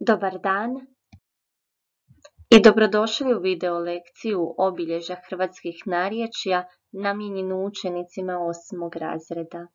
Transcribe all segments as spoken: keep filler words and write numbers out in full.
Dobar dan i dobrodošli u video lekciju obilježja hrvatskih narječja namijenjenu učenicima osmog razreda.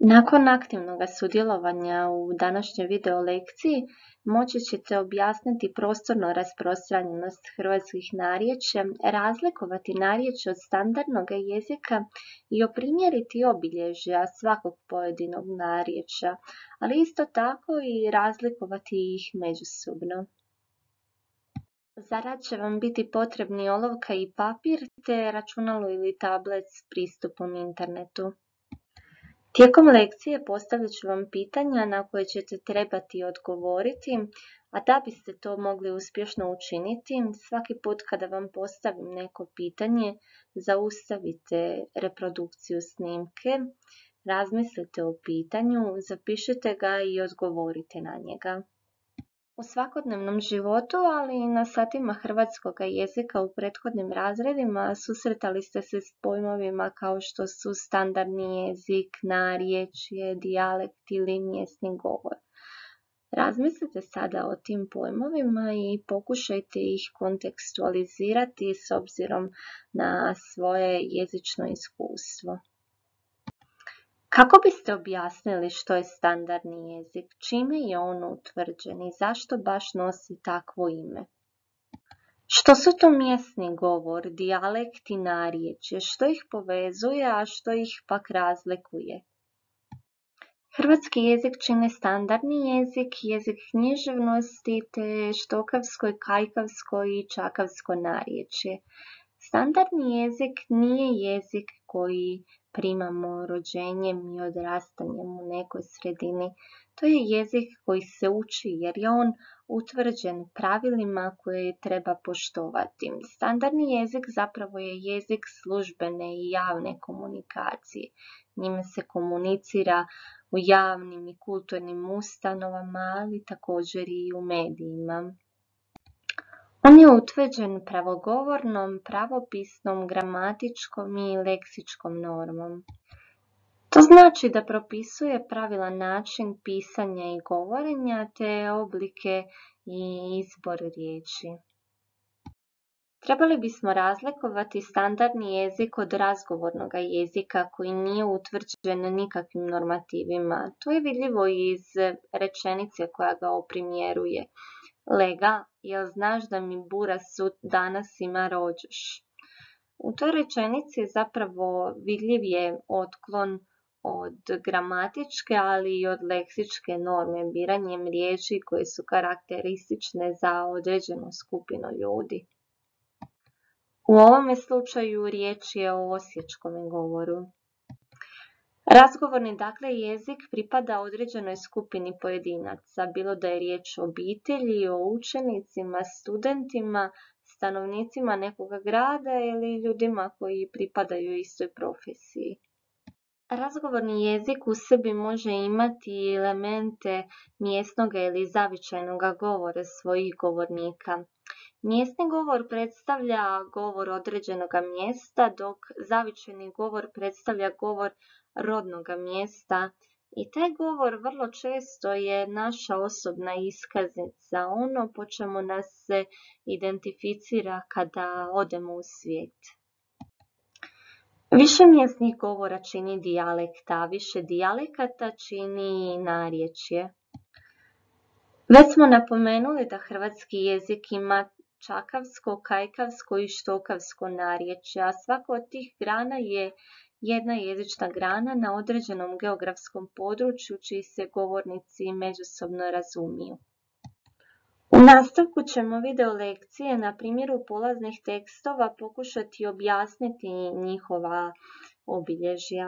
Nakon aktivnog sudjelovanja u današnjoj video lekciji moći ćete objasniti prostorno rasprostranjenost hrvatskih narječja, razlikovati narječje od standardnog jezika i oprimjeriti obilježja svakog pojedinog narječja, ali isto tako i razlikovati ih međusobno. Za rad će vam biti potrebni olovka i papir te računalo ili tablet s pristupom internetu. Tijekom lekcije postavit ću vam pitanja na koje ćete trebati odgovoriti, a da biste to mogli uspješno učiniti, svaki put kada vam postavim neko pitanje, zaustavite reprodukciju snimke, razmislite o pitanju, zapišite ga i odgovorite na njega. U svakodnevnom životu, ali i na satima hrvatskog jezika u prethodnim razredima susretali ste se s pojmovima kao što su standardni jezik, narječje, dijalekt ili mjesni govor. Razmislite sada o tim pojmovima i pokušajte ih kontekstualizirati s obzirom na svoje jezično iskustvo. Kako biste objasnili što je standardni jezik, čime je on utvrđen i zašto baš nosi takvo ime? Što su to mjesni govor, dijalekt i narječje, što ih povezuje, a što ih pak razlikuje? Hrvatski jezik čine standardni jezik, jezik književnosti te štokavsko, kajkavsko i čakavsko narječje. Standardni jezik nije jezik koji primamo rođenjem i odrastanjem u nekoj sredini. To je jezik koji se uči jer je on utvrđen pravilima koje treba poštovati. Standardni jezik zapravo je jezik službene i javne komunikacije. Njime se komunicira u javnim i kulturnim ustanovama, ali također i u medijima. On je utvrđen pravogovornom, pravopisnom, gramatičkom i leksičkom normom. To znači da propisuje pravilan način pisanja i govorenja te oblike i izbor riječi. Trebali bismo razlikovati standardni jezik od razgovornog jezika koji nije utvrđen nikakvim normativima. To je vidljivo iz rečenice koja ga oprimjeruje. Lega, jel znaš da mi bura sud danas ima rođoš? U toj rečenici zapravo vidljiv je otklon od gramatičke, ali i od leksičke norme, biranjem riječi koje su karakteristične za određenu skupinu ljudi. U ovome slučaju riječ je o osječkom govoru. Razgovorni dakle jezik pripada određenoj skupini pojedinaca, bilo da je riječ o obitelji, o učenicima, studentima, stanovnicima nekog grada ili ljudima koji pripadaju istoj profesiji. Razgovorni jezik u sebi može imati elemente mjesnog ili zavičajnog govora svojih govornika. Mjesni govor predstavlja govor određenog mjesta, dok zavičajni govor predstavlja govor rodnog mjesta i taj govor vrlo često je naša osobna iskaznica, ono po čemu nas se identificira kada odemo u svijet. Više mjesnih govora čini dijalekt, a više dijalekata čini narječje. Već smo napomenuli da hrvatski jezik ima čakavsko, kajkavsko i štokavsko narječje, a svako od tih grana je jedna jezična grana na određenom geografskom području čiji se govornici međusobno razumiju. U nastavku ćemo video lekcije na primjeru polaznih tekstova pokušati objasniti njihova obilježja.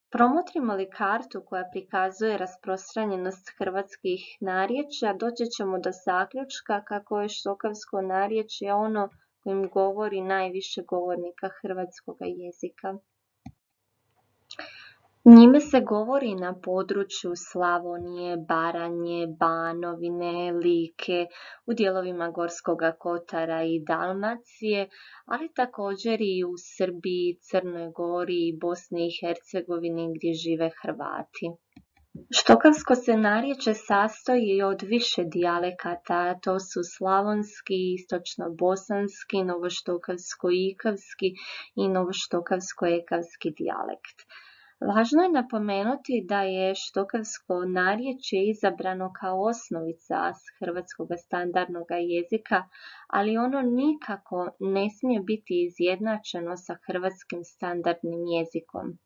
Promotrimo li kartu koja prikazuje rasprostranjenost hrvatskih narječja, doći ćemo do zaključka kako je štokavsko narječje ono kojim govori najviše govornika hrvatskog jezika. Njime se govori na području Slavonije, Baranje, Banovine, Like, u dijelovima Gorskog kotara i Dalmacije, ali također i u Srbiji, Crnoj Gori i Bosni i Hercegovini gdje žive Hrvati. Štokavsko se narječje sastoji od više dijalekata, to su slavonski, istočno-bosanski, novoštokavsko-ikavski i novoštokavsko-ekavski dijalekt. Važno je napomenuti da je štokavsko narječje izabrano kao osnovica hrvatskog standardnog jezika, ali ono nikako ne smije biti izjednačeno sa hrvatskim standardnim jezikom.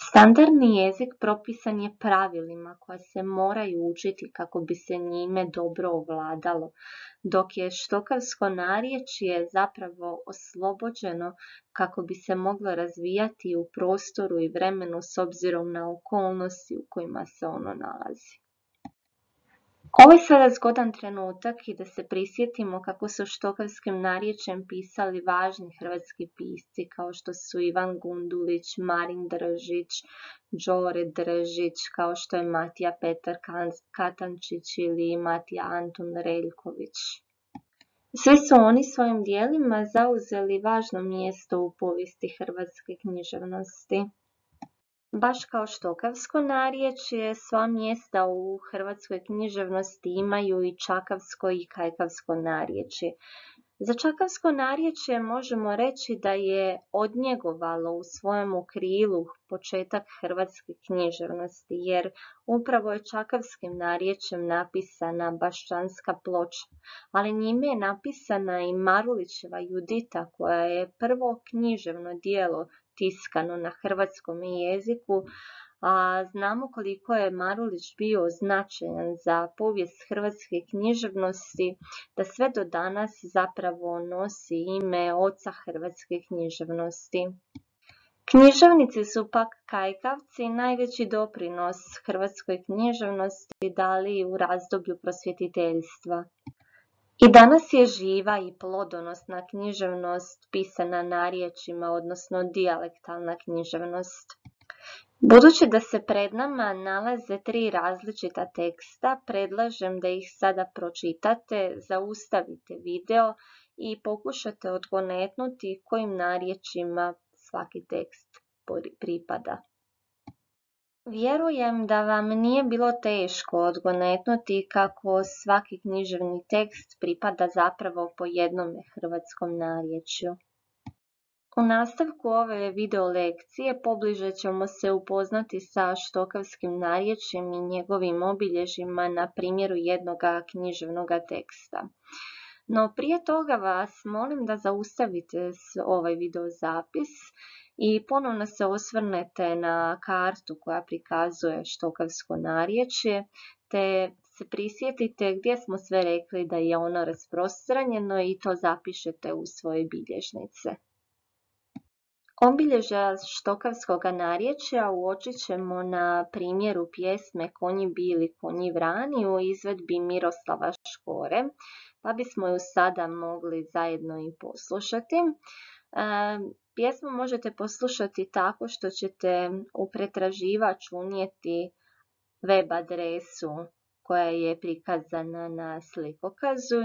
Standardni jezik propisan je pravilima koja se moraju učiti kako bi se njime dobro ovladalo, dok je štokavsko narječje zapravo oslobođeno kako bi se moglo razvijati u prostoru i vremenu s obzirom na okolnosti u kojima se ono nalazi. Ovo je sada zgodan trenutak i da se prisjetimo kako su štokavskim narječjem pisali važni hrvatski pisci kao što su Ivan Gundulić, Marin Držić, Đore Držić, kao što je Matija Petar Katančić ili Matija Antun Reljković. Svi su oni svojim dijelima zauzeli važno mjesto u povijesti hrvatske književnosti. Baš kao štokavsko narječje, sva mjesta u hrvatskoj književnosti imaju i čakavsko i kajkavsko narječje. Za čakavsko narječje možemo reći da je odnjegovalo u svojemu krilu početak hrvatske književnosti, jer upravo je čakavskim narječjem napisana Baščanska ploča, ali njime je napisana i Marulićeva Judita, koja je prvo književno djelo tiskano na hrvatskom jeziku, a znamo koliko je Marulić bio značajan za povijest hrvatske književnosti, da sve do danas zapravo nosi ime oca hrvatske književnosti. Književnici su pak kajkavci najveći doprinos hrvatskoj književnosti dali u razdoblju prosvjetiteljstva. I danas je živa i plodonosna književnost pisana narječjima, odnosno dijalektalna književnost. Budući da se pred nama nalaze tri različita teksta, predlažem da ih sada pročitate, zaustavite video i pokušate odgonetnuti kojim narječjima svaki tekst pripada. Vjerujem da vam nije bilo teško odgonetnuti kako svaki književni tekst pripada zapravo po jednome hrvatskom narječju. U nastavku ove video lekcije pobliže ćemo se upoznati sa štokavskim narječjem i njegovim obilježjima na primjeru jednog književnog teksta. No prije toga vas molim da zaustavite ovaj video zapis i ponovno se osvrnete na kartu koja prikazuje štokavsko narječje, te se prisjetite gdje smo sve rekli da je ono rasprostranjeno i to zapišete u svoje bilježnice. Obilježja štokavskog narječja uočit ćemo na primjeru pjesme Konji bili, konji vrani u izvedbi Miroslava Škore, pa bismo ju sada mogli zajedno i poslušati. Pjesmu možete poslušati tako što ćete u pretraživač unijeti web adresu koja je prikazana na slikokazu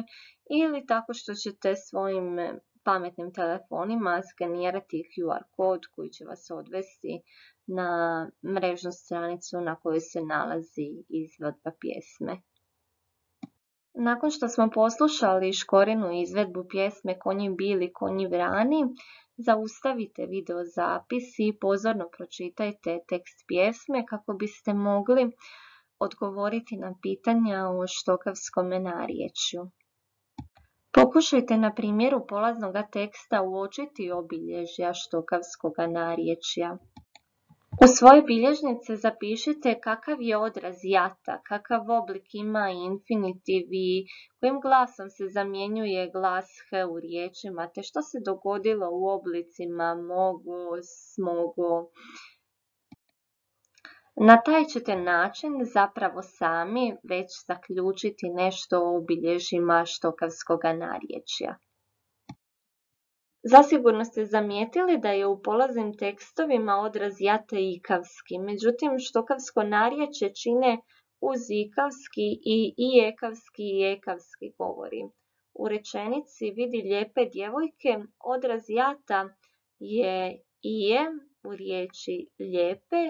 ili tako što ćete svojim pametnim telefonima skenirati Q R kod koji će vas odvesti na mrežnu stranicu na kojoj se nalazi izvedba pjesme. Nakon što smo poslušali Škorinu izvedbu pjesme Konji bili, konji vrani, zaustavite video zapis i pozorno pročitajte tekst pjesme kako biste mogli odgovoriti na pitanja o štokavskom narječju. Pokušajte na primjeru polaznog teksta uočiti obilježja štokavskog narječja. U svoje bilježnice zapišite kakav je odraz jata, kakav oblik ima infinitiv i kojim glasom se zamjenjuje glas h u riječima, te što se dogodilo u oblicima mogu, smogu. Na taj ćete način zapravo sami već zaključiti nešto o obilježjima štokavskog narječja. Zasigurno ste zamijetili da je u polaznim tekstovima odraz jata ikavski, međutim štokavsko narječje čine uz ikavski i i ekavski i ekavski govori. U rečenici vidi lijepe djevojke odraz jata je ije u riječi lijepe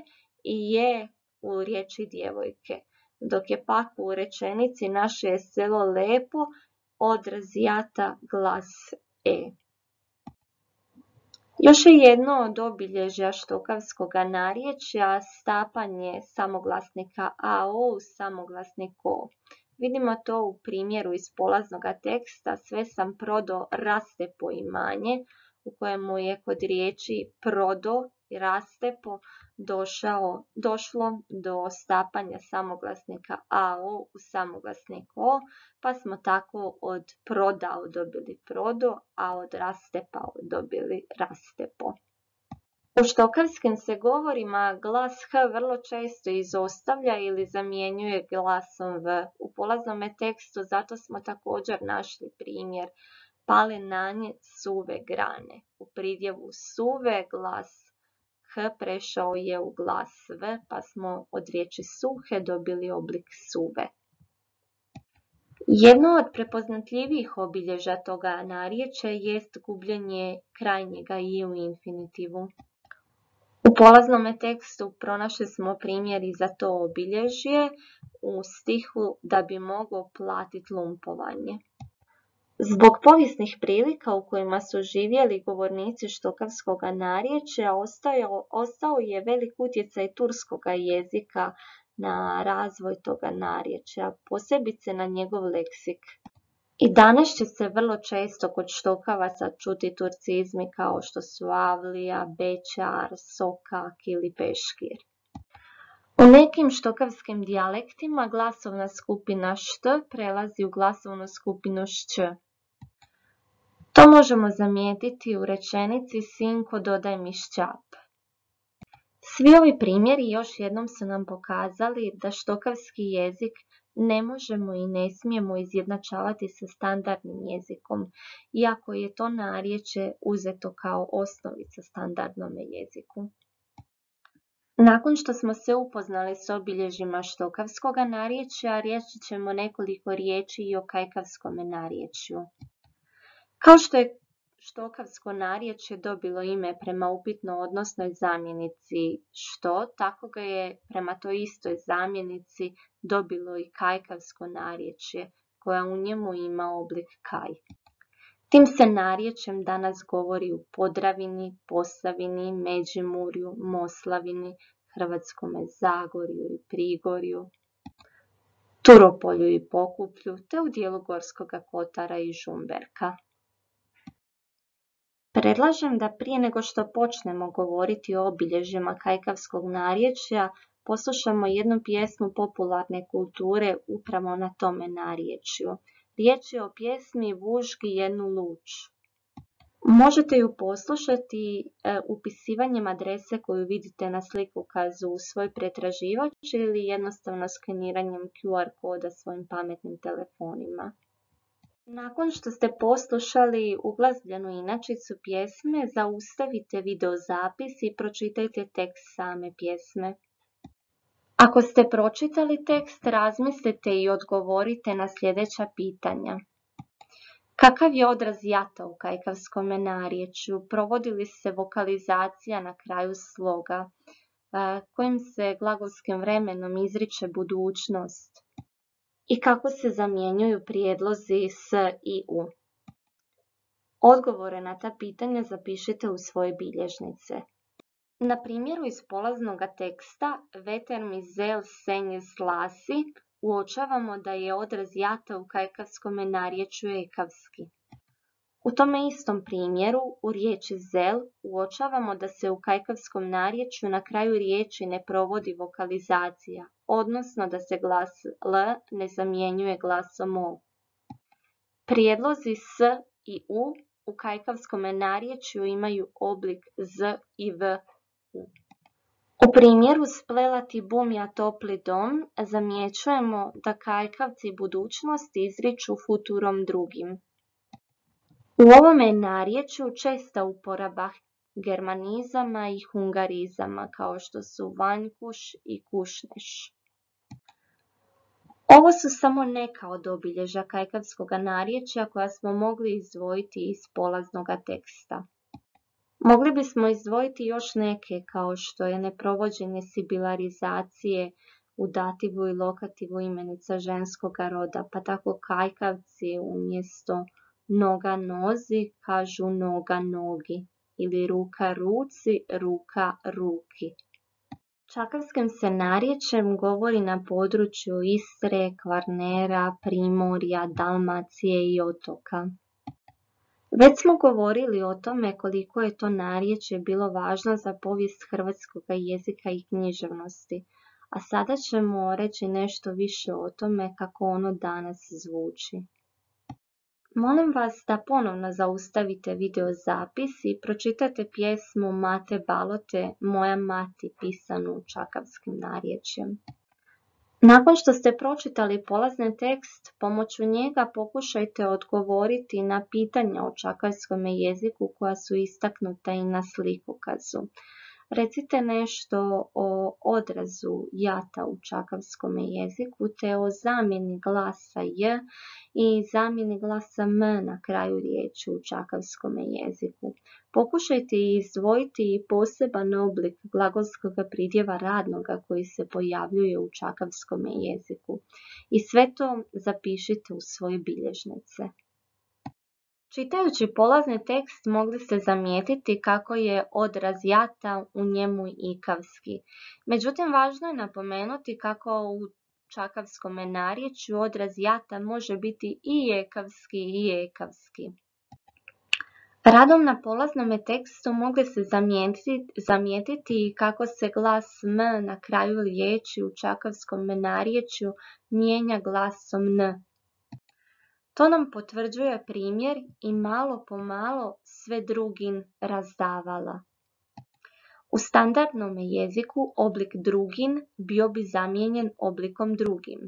i je u riječi djevojke, dok je pak u rečenici naše je selo lepo odraz jata glas e. Još je jedno od obilježja štokavskog narječja stapanje samoglasnika ao u samoglasnik o. Vidimo to u primjeru iz polaznog teksta Sve sam prodo rastepo imanje, u kojemu je kod riječi prodo i rastepo došao, došlo do stapanja samoglasnika ao u samoglasnik o, pa smo tako od prodao dobili prodo, a od rastepao dobili rastepo. U štokavskim se govorima glas h vrlo često izostavlja ili zamjenjuje glasom v. U polaznom tekstu zato smo također našli primjer pale na nje suve grane. U pridjevu suve glas h prešao je u glas v, pa smo od riječi suhe dobili oblik suve. Jedno od prepoznatljivijih obilježja toga narječja jest gubljenje krajnjega i u infinitivu. U polaznom tekstu pronašli smo primjer i za to obilježje u stihu da bi mogao platiti lumpovanje. Zbog povijesnih prilika u kojima su živjeli govornici štokavskog narječja ostao, ostao je velik utjecaj turskog jezika na razvoj toga narječja, posebice na njegov leksik. I danas će se vrlo često kod štokavaca čuti turcizmi kao što su avlija, bećar, sokak ili peškir. U nekim štokavskim dijalektima glasovna skupina št prelazi u glasovnu skupinu šć. To možemo zamijetiti u rečenici sinko dodaj mi šćap. Svi ovi primjeri još jednom su nam pokazali da štokavski jezik ne možemo i ne smijemo izjednačavati sa standardnim jezikom, iako je to narječje uzeto kao osnovica standardnom jeziku. Nakon što smo se upoznali s obilježjima štokavskog narječja, reći ćemo nekoliko riječi i o kajkavskom narječju. Kao što je štokavsko narječje dobilo ime prema upitno odnosnoj zamjenici što, tako ga je prema toj istoj zamjenici dobilo i kajkavsko narječje, koja u njemu ima oblik kaj. Tim se narječjem danas govori u Podravini, Posavini, Međimurju, Moslavini, Hrvatskome Zagorju i Prigorju, Turopolju i Pokuplju, te u dijelu Gorskoga Kotara i Žumberka. Predlažem da prije nego što počnemo govoriti o obilježjima kajkavskog narječja, poslušamo jednu pjesmu popularne kulture upravo na tome narječju. Riječ je o pjesmi Vužgi jednu luč. Možete ju poslušati e, upisivanjem adrese koju vidite na slikokazu u svoj pretraživač ili jednostavno skeniranjem Q R koda svojim pametnim telefonima. Nakon što ste poslušali uglazbljenu inačicu pjesme, zaustavite videozapis i pročitajte tekst same pjesme. Ako ste pročitali tekst, razmislite i odgovorite na sljedeća pitanja. Kakav je odraz jata u kajkavskom narječju? Provodi li se vokalizacija na kraju sloga? Kojim se glagolskim vremenom izriče budućnost? I kako se zamjenjuju prijedlozi s i u? Odgovore na ta pitanja zapišite u svoje bilježnice. Na primjeru iz polaznog teksta Veter mi zel senje slasi uočavamo da je odraz jata u kajkavskom narječju ekavski. U tome istom primjeru u riječi zel uočavamo da se u kajkavskom narječju na kraju riječi ne provodi vokalizacija, odnosno da se glas l ne zamjenjuje glasom o. Prijedlozi s i u u kajkavskom narječju imaju oblik z i v. U primjeru splelati bumja topli dom zamjećujemo da kajkavci budućnosti izriču futurom drugim. U ovome narječju česta uporaba germanizama i hungarizama kao što su vanjkuš i kušneš. Ovo su samo neka od obilježja kajkavskog narječja koja smo mogli izdvojiti iz polaznog teksta. Mogli bismo izdvojiti još neke kao što je neprovođenje sibilarizacije u dativu i lokativu imenica ženskoga roda, pa tako kajkavci umjesto noga nozi kažu noga nogi ili ruka ruci, ruka ruki. Čakavskim se narječjem govori na području Istre, Kvarnera, Primorja, Dalmacije i otoka. Već smo govorili o tome koliko je to narječje bilo važno za povijest hrvatskog jezika i književnosti, a sada ćemo reći nešto više o tome kako ono danas zvuči. Molim vas da ponovno zaustavite video zapis i pročitate pjesmu Mate Balote Moja mati pisanu čakavskim narječjem. Nakon što ste pročitali polazni tekst, pomoću njega pokušajte odgovoriti na pitanja o čakavskom jeziku koja su istaknuta i na slikokazu. Recite nešto o odrazu jata u čakavskom jeziku te o zamjeni glasa j i zamjeni glasa m na kraju riječi u čakavskom jeziku. Pokušajte izdvojiti i poseban oblik glagolskog pridjeva radnoga koji se pojavljuje u čakavskom jeziku. I sve to zapišite u svoje bilježnice. Čitajući polazni tekst mogli ste zamijetiti kako je odraz jata u njemu ikavski. Međutim, važno je napomenuti kako u čakavskom narječju odraz jata može biti i ekavski i ekavski. Radom na polaznom tekstu mogli se zamijetiti, zamijetiti kako se glas m na kraju riječi u čakavskom narječju mijenja glasom n. To nam potvrđuje primjer i malo po malo sve drugin razdavala. U standardnom jeziku oblik drugin bio bi zamijenjen oblikom drugim.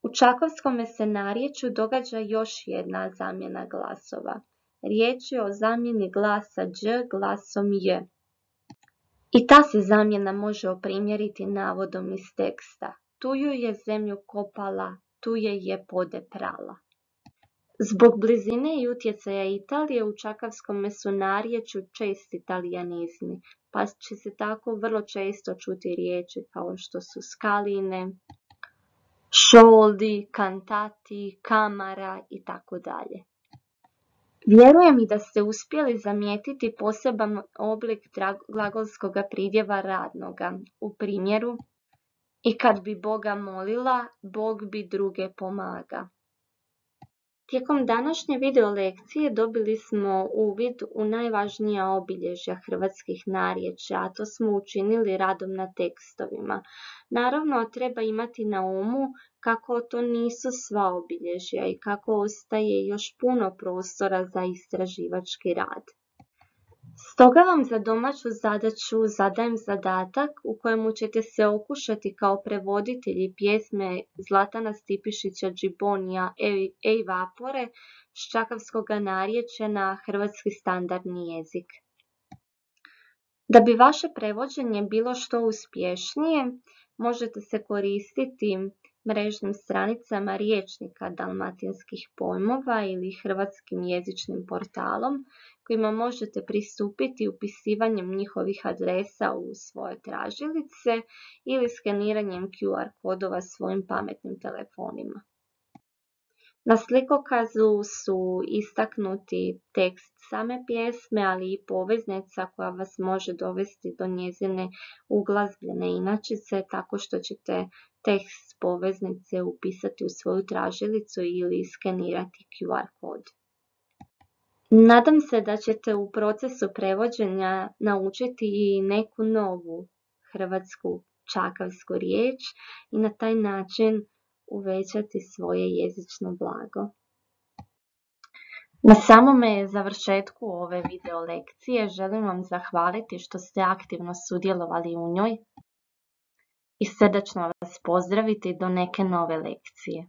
U čakavskom se narječju događa još jedna zamjena glasova. Riječ je o zamjeni glasa đ glasom j. I ta se zamjena može oprimjeriti navodom iz teksta. Tu ju je zemlju kopala, tu je je pode prala. Zbog blizine i utjecaja Italije u čakavskom su narječju česti italijanizmi, pa će se tako vrlo često čuti riječi kao što su skaline, šoldi, kantati, kamara i tako dalje. Vjerujem i da ste uspjeli zamijetiti poseban oblik glagolskog pridjeva radnoga. U primjeru, i kad bi Boga molila, Bog bi druge pomaga. Tijekom današnje video lekcije dobili smo uvid u najvažnija obilježja hrvatskih narječja, a to smo učinili radom na tekstovima. Naravno, treba imati na umu kako to nisu sva obilježja i kako ostaje još puno prostora za istraživački rad. Stoga vam za domaću zadaću zadajem zadatak u kojemu ćete se okušati kao prevoditelji pjesme Zlatana Stipišića Džibonija Ej vapore s čakavskog narječja na hrvatski standardni jezik. Da bi vaše prevođenje bilo što uspješnije, možete se koristiti mrežnim stranicama Rječnika dalmatinskih pojmova ili hrvatskim jezičnim portalom kojima možete pristupiti upisivanjem njihovih adresa u svoje tražilice ili skeniranjem Q R kodova svojim pametnim telefonima. Na slikokazu su istaknuti tekst same pjesme, ali i poveznica koja vas može dovesti do njezine uglazbljene inačice tako što ćete tekst poveznice upisati u svoju tražilicu ili skenirati Q R kod. Nadam se da ćete u procesu prevođenja naučiti i neku novu hrvatsku čakavsku riječ i na taj način uvećati svoje jezično blago. Na samome završetku ove video lekcije želim vam zahvaliti što ste aktivno sudjelovali u njoj i srdačno vas pozdraviti do neke nove lekcije.